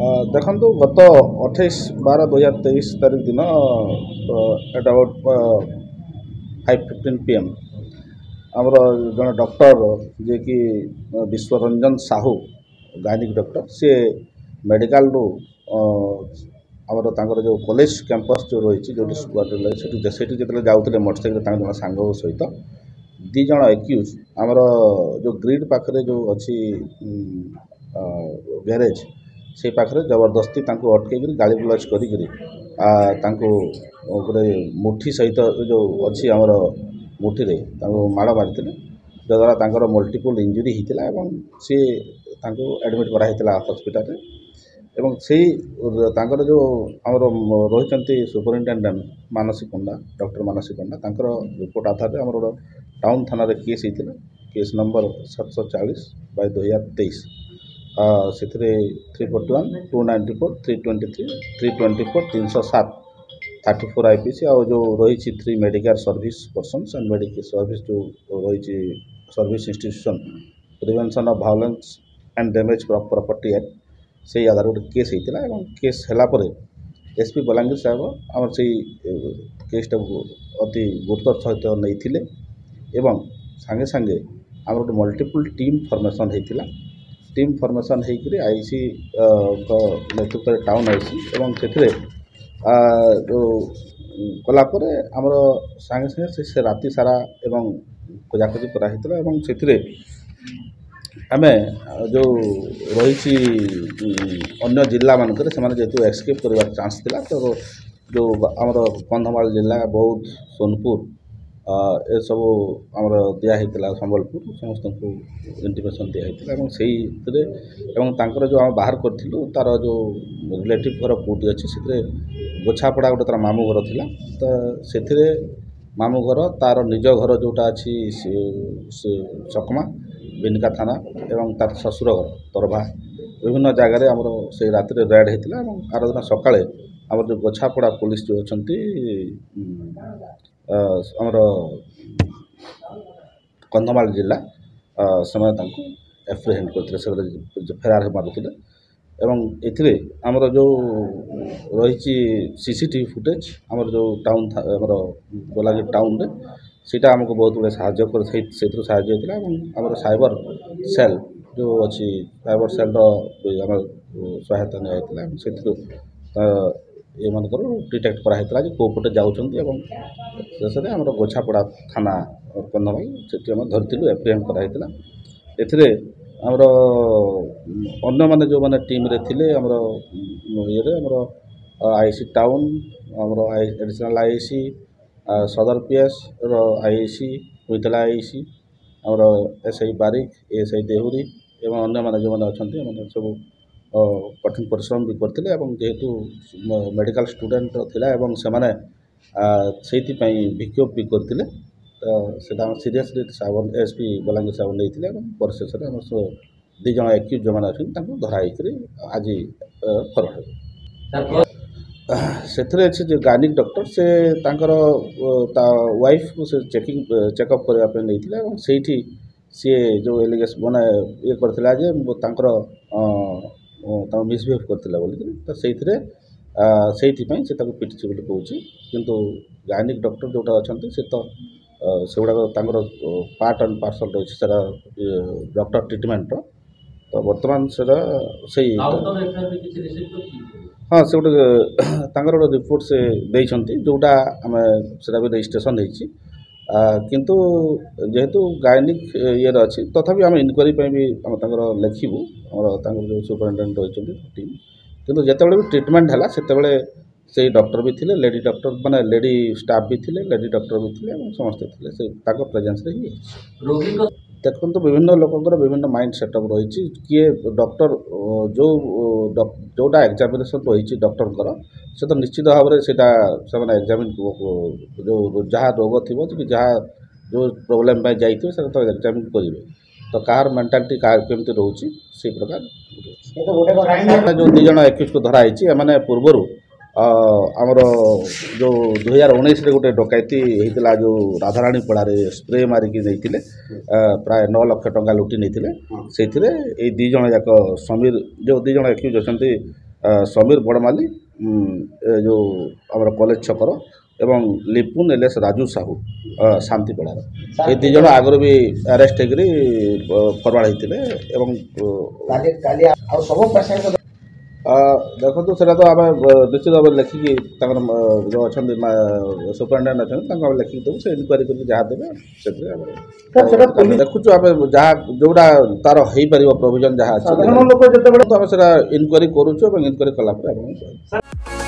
ଦେଖନ୍ତୁ, ଗତ 28/12/2023 ତାରିଖ ଦିନ at about 5:15 PM ଆମର ଜଣେ ଡକ୍ଟର, ଯିଏକି ବିଶ୍ୱରଞ୍ଜନ ସାହୁ, ଗାଇନିକ୍ ଡକ୍ଟର, ସିଏ ମେଡ଼ିକାଲରୁ ଆମର ତାଙ୍କର ଯେଉଁ କଲେଜ କ୍ୟାମ୍ପସ୍ ଯେଉଁ ରହିଛି, ଯେଉଁଠି ସେଠି ଯେତେବେଳେ ଯାଉଥିଲେ ମୋଟରସାଇକେଲ ତାଙ୍କ ଜଣେ ସାଙ୍ଗଙ୍କ ସହିତ, 2 ଜଣ ଏକ୍ୟୁଜ୍ ଆମର ଯେଉଁ ଗ୍ରିଡ଼ ପାଖରେ ଯେଉଁ ଅଛି ଗ୍ୟାରେଜ୍, ସେଇ ପାଖରେ ଜବରଦସ୍ତି ତାଙ୍କୁ ଅଟକେଇକିରି ଗାଳି ଗୁଲଜ କରିକିରି ତାଙ୍କୁ ଗୋଟେ ମୁଠି ସହିତ ଯେଉଁ ଅଛି ଆମର ମୁଠିରେ ତାଙ୍କୁ ମାଡ଼ ମାରିଥିଲେ, ଯଦ୍ୱାରା ତାଙ୍କର ମଲ୍ଟିପୁଲ୍ ଇଞ୍ଜୁରି ହେଇଥିଲା ଏବଂ ସିଏ ତାଙ୍କୁ ଆଡ଼ମିଟ୍ କରାହେଇଥିଲା ହସ୍ପିଟାଲରେ। ଏବଂ ସେଇ ତାଙ୍କର ଯେଉଁ ଆମର ରହିଛନ୍ତି ସୁପରିନଟେଣ୍ଡେଣ୍ଟ ମାନସୀ ପଣ୍ଡା, ଡକ୍ଟର ମାନସୀ ପଣ୍ଡା, ତାଙ୍କର ରିପୋର୍ଟ ଆଧାରରେ ଆମର ଗୋଟେ ଟାଉନ୍ ଥାନାରେ କେସ୍ ହେଇଥିଲା, କେସ୍ ନମ୍ବର 740/2023। ସେଥିରେ 341, 294, 323, 324, 307, 34 I P C ଆଉ ଯେଉଁ ରହିଛି 3 medical service persons and medical service ଯେଉଁ ରହିଛି service institution prevention of violence and damage property act, ସେଇ ଆଧାରରେ ଗୋଟେ କେସ୍ ହେଇଥିଲା। ଏବଂ କେସ୍ ହେଲା ପରେ ଏସ୍ ପି ବଲାଙ୍ଗୀର ସାହେବ ଆମର ସେଇ କେସ୍ଟାକୁ ଅତି ଗୁରୁତ୍ୱର ସହିତ ନେଇଥିଲେ ଏବଂ ସାଙ୍ଗେ ସାଙ୍ଗେ ଆମର ଗୋଟେ ମଲ୍ଟିପୁଲ୍ ଟିମ୍ ଫର୍ମେସନ୍ ହେଇଥିଲା। ଟିମ୍ ଫର୍ମେସନ୍ ହେଇକରି I ସିଙ୍କ ନେତୃତ୍ୱରେ, ଟାଉନ୍ I C, ଏବଂ ସେଥିରେ ଯେଉଁ କଲା ପରେ ଆମର ସାଙ୍ଗେ ସାଙ୍ଗେ ସେ ରାତି ସାରା ଏବଂ ଖୋଜାଖୋଜି କରାହେଇଥିଲା। ଏବଂ ସେଥିରେ ଆମେ ଯେଉଁ ରହିଛି ଅନ୍ୟ ଜିଲ୍ଲାମାନଙ୍କରେ ସେମାନେ ଯେହେତୁ ଏସ୍କେପ୍ କରିବାର ଚାନ୍ସ ଥିଲା, ତ ଯେଉଁ ଆମର କନ୍ଧମାଳ ଜିଲ୍ଲା, ବୌଦ୍ଧ, ସୋନପୁର, ଏସବୁ ଆମର ଦିଆହେଇଥିଲା, ସମ୍ବଲପୁର, ସମସ୍ତଙ୍କୁ ଇଣ୍ଟିମେସନ୍ ଦିଆହେଇଥିଲା। ଏବଂ ସେଇଥିରେ ଏବଂ ତାଙ୍କର ଯେଉଁ ଆମେ ବାହାର କରିଥିଲୁ ତା'ର ଯେଉଁ ରିଲେଟିଭ୍ ଘର କେଉଁଠି ଅଛି, ସେଥିରେ ଗୋଛାପଡ଼ା ଗୋଟେ ତା'ର ମାମୁଁ ଘର ଥିଲା। ତ ସେଥିରେ ମାମୁଁ ଘର, ତା'ର ନିଜ ଘର ଯେଉଁଟା ଅଛି ସେ ଚକମା, ବିନିକା ଥାନା, ଏବଂ ତା'ର ଶ୍ୱଶୁର ଘର ତରଭା, ବିଭିନ୍ନ ଜାଗାରେ ଆମର ସେଇ ରାତିରେ ରେଡ଼୍ ହେଇଥିଲା। ଏବଂ ଆର ଦିନ ସକାଳେ ଆମର ଯେଉଁ ଗୋଛାପଡ଼ା ପୋଲିସ ଯେଉଁ ଅଛନ୍ତି ଆମର କନ୍ଧମାଳ ଜିଲ୍ଲା, ସେମାନେ ତାଙ୍କୁ ଆପ୍ରିହେଣ୍ଡ କରିଥିଲେ, ସେମାନେ ଫେରାର ମାରୁଥିଲେ। ଏବଂ ଏଥିରେ ଆମର ଯେଉଁ ରହିଛି C C T V footage ଆମର ଯେଉଁ ଟାଉନ୍, ଆମର ବଲାଙ୍ଗୀର ଟାଉନରେ, ସେଇଟା ଆମକୁ ବହୁତ ଗୁଡ଼ିଏ ସାହାଯ୍ୟ କରି ସେଇଥିରୁ ସାହାଯ୍ୟ ହେଇଥିଲା। ଏବଂ ଆମର ସାଇବର ସେଲ୍ ଯେଉଁ ଅଛି, ସାଇବର ସେଲ୍ର ଆମର ସହାୟତା ନିଆଯାଇଥିଲା ଏବଂ ସେଥିରୁ ଏମାନଙ୍କର ଡିଟେକ୍ଟ କରାହେଇଥିଲା ଯେ କେଉଁ ପଟେ ଯାଉଛନ୍ତି। ଏବଂ ଶେଷରେ ଆମର ଗୋଛାପଡ଼ା ଥାନା କନ୍ଧମାଳ, ସେଠି ଆମେ ଧରିଥିଲୁ, ଆପ୍ରିହେଣ୍ଡ କରାହେଇଥିଲା। ଏଥିରେ ଆମର ଅନ୍ୟମାନେ ଯେଉଁମାନେ ଟିମ୍ରେ ଥିଲେ, ଆମର ଇଏରେ ଆମର I C town, ଆମର I additional I C, ସଦର P ଏସ୍ର I C, Puintala I C, ଆମର S I Barik, S I Dehury ଏବଂ ଅନ୍ୟମାନେ ଯେଉଁମାନେ ଅଛନ୍ତି, ଏମାନେ ସବୁ କଠିନ ପରିଶ୍ରମ ବି କରିଥିଲେ। ଏବଂ ଯେହେତୁ ମେଡ଼ିକାଲ ଷ୍ଟୁଡ଼େଣ୍ଟ ଥିଲା ଏବଂ ସେମାନେ ସେଇଥିପାଇଁ ବିକ୍ଷୋଭ ବି କରିଥିଲେ, ତ ସେଇଟା ଆମେ ସିରିୟସଲି ସାହେବ, ଏସ୍ ପି ବଲାଙ୍ଗୀର ସାହେବ ନେଇଥିଲେ। ଏବଂ ପରିଶେଷରେ ଆମର 2 ଜଣ ଏକ୍ୟୁଜ୍ ଯେଉଁମାନେ ଅଛନ୍ତି ତାଙ୍କୁ ଧରା ହେଇକରି ଆଜି ଫରୱାର୍ଡ଼ ହେବେ। ସେଥିରେ ଅଛି ଯେ ଗାଇନିକ୍ ଡକ୍ଟର, ସେ ତାଙ୍କର ତା ୱାଇଫ୍କୁ ସେ ଚେକିଂ ଚେକଅପ୍ କରିବା ପାଇଁ ନେଇଥିଲେ ଏବଂ ସେଇଠି ସିଏ ଯେଉଁ ଏଲିଗେସନ୍ ମାନେ ଇଏ କରିଥିଲା ଯେ ତାଙ୍କର ତାଙ୍କୁ ମିସବିହେଭ୍ କରିଥିଲା ବୋଲିକିରି, ତ ସେଇଥିରେ ସେଇଥିପାଇଁ ସେ ତାକୁ ପିଟିଛି ବୋଲି କହୁଛି। କିନ୍ତୁ ଗାଇନିକ୍ ଡକ୍ଟର ଯେଉଁଟା ଅଛନ୍ତି, ସେ ତ ସେଗୁଡ଼ାକ ତାଙ୍କର ପାର୍ଟ ଆଣ୍ଡ ପାର୍ସଲ୍ ରହିଛି ସେଟା ଡକ୍ଟର ଟ୍ରିଟମେଣ୍ଟର। ତ ବର୍ତ୍ତମାନ ସେଟା ସେଇ, ହଁ, ସେ ଗୋଟେ ତାଙ୍କର ଗୋଟେ ରିପୋର୍ଟ ସେ ଦେଇଛନ୍ତି, ଯେଉଁଟା ଆମେ ସେଟା ବି ରେଜିଷ୍ଟ୍ରେସନ୍ ହେଇଛି। କିନ୍ତୁ ଯେହେତୁ ଗାଇନିକ୍ ଇଏରେ ଅଛି, ତଥାପି ଆମେ ଇନକ୍ୱାରି ପାଇଁ ବି ଆମେ ତାଙ୍କର ଲେଖିବୁ, ଆମର ତାଙ୍କର ଯେଉଁ ସୁପରିଟେଣ୍ଡେଣ୍ଟ ରହିଛନ୍ତି ଟିମ୍। କିନ୍ତୁ ଯେତେବେଳେ ବି ଟ୍ରିଟମେଣ୍ଟ ହେଲା, ସେତେବେଳେ ସେଇ ଡକ୍ଟର ବି ଥିଲେ, ଲେଡ଼ି ଡକ୍ଟର ମାନେ ଲେଡ଼ି ଷ୍ଟାଫ୍ ବି ଥିଲେ, ଲେଡ଼ି ଡକ୍ଟର ବି ଥିଲେ ଏବଂ ସମସ୍ତେ ଥିଲେ, ସେ ତାଙ୍କ ପ୍ରେଜେନ୍ସରେ ହିଁ ହେଇଛି। ଦେଖନ୍ତୁ, ବିଭିନ୍ନ ଲୋକଙ୍କର ବିଭିନ୍ନ ମାଇଣ୍ଡ ସେଟଅପ୍ ରହିଛି। କିଏ ଡକ୍ଟର ଯେଉଁ ଯେଉଁଟା ଏକ୍ଜାମିନେସନ୍ ରହିଛି ଡକ୍ଟରଙ୍କର, ସେ ତ ନିଶ୍ଚିତ ଭାବରେ ସେଇଟା ସେମାନେ ଏକ୍ଜାମିନ୍, ଯେଉଁ ଯାହା ରୋଗ ଥିବ କି ଯାହା ଯେଉଁ ପ୍ରୋବ୍ଲେମ୍ ପାଇଁ ଯାଇଥିବେ, ସେଟା ତ ଏକ୍ଜାମିନ୍ କରିବେ। ତ କାହାର ମେଣ୍ଟାଲିଟି କାହାର କେମିତି ରହୁଛି, ସେଇ ପ୍ରକାର। ଯେଉଁ 2 ଜଣ ଏକ୍ୟୁଜ୍କୁ ଧରା ହେଇଛି, ଏମାନେ ପୂର୍ବରୁ ଆମର ଯେଉଁ 2019ରେ ଗୋଟେ ଡକାୟତି ହେଇଥିଲା, ଯେଉଁ ରାଧାରାଣୀ ପଡ଼ାରେ ସ୍ପ୍ରେ ମାରିକି ନେଇଥିଲେ, ପ୍ରାୟ 9 ଲକ୍ଷ ଟଙ୍କା ଲୁଟି ନେଇଥିଲେ। ସେଇଥିରେ ଏଇ 2 ଜଣ ଯାକ ସମୀର, ଯେଉଁ 2 ଜଣ ଏକ୍ୟୁଜ୍ ଅଛନ୍ତି, ସମୀର ବଡ଼ମାଲି, ଏ ଯେଉଁ ଆମର କଲେଜ ଛକର, ଏବଂ ଲିପୁନ ଏଲିଆସ୍ ରାଜୁ ସାହୁ ଶାନ୍ତିପଡ଼ାର। ଏ 2 ଜଣ ଆଗରୁ ବି ଆରେଷ୍ଟ ହେଇକରି ଫରୱାର୍ଡ଼ ହେଇଥିଲେ। ଏବଂ କାଲି ଆଉ ସବୁ ପେସେଣ୍ଟ? ଦେଖନ୍ତୁ, ସେଇଟା ତ ଆମେ ନିଶ୍ଚିତ ଭାବରେ ଲେଖିକି ତାଙ୍କର ଯେଉଁ ଅଛନ୍ତି ସୁପରିଟେଣ୍ଡେଣ୍ଟ ଅଛନ୍ତି, ତାଙ୍କୁ ଆମେ ଲେଖିକି ଦେବୁ। ସେ ଇନକ୍ୱାରି କରିକି ଯାହା ଦେବେ ସେଥିରେ ଆମେ ଦେଖୁଛୁ। ଆମେ ଯାହା ଯେଉଁଟା ତାର ହେଇପାରିବ ପ୍ରୋଭିଜନ୍ ଯାହା ଅଛି ଲୋକ ଯେତେବେଳେ ତ ଆମେ ସେଇଟା ଇନକ୍ୱାରି କରୁଛୁ ଏବଂ ଇନକ୍ୱାରି କଲା ପରେ ଆପଣଙ୍କୁ କହିବୁ।